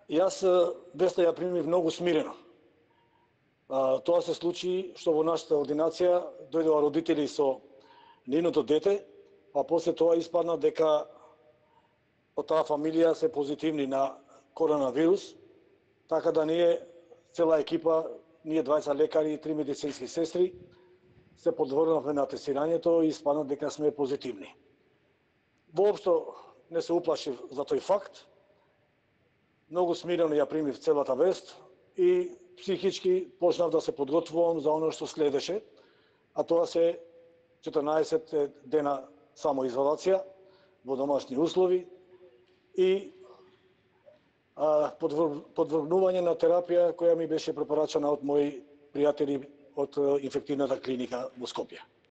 Јас веста ја примив многу смирено. Тоа се случи што во нашата ординација дојдоа родители со нейното дете, а после тоа испадна дека од таа фамилија се позитивни на коронавирус, така да ние, цела екипа, ние 20 лекари и 3 медицински сестри, се подвргнавме на тестирањето и испадна дека сме позитивни. Воопшто не се уплашив за тој факт, многу смирено ја примив целата вест и психички почнав да се подготвувам за оно што следеше, а тоа се 14 дена самоизолација во домашни услови и подвргнување на терапија која ми беше препорачана од мои пријатели од инфективната клиника во Скопје.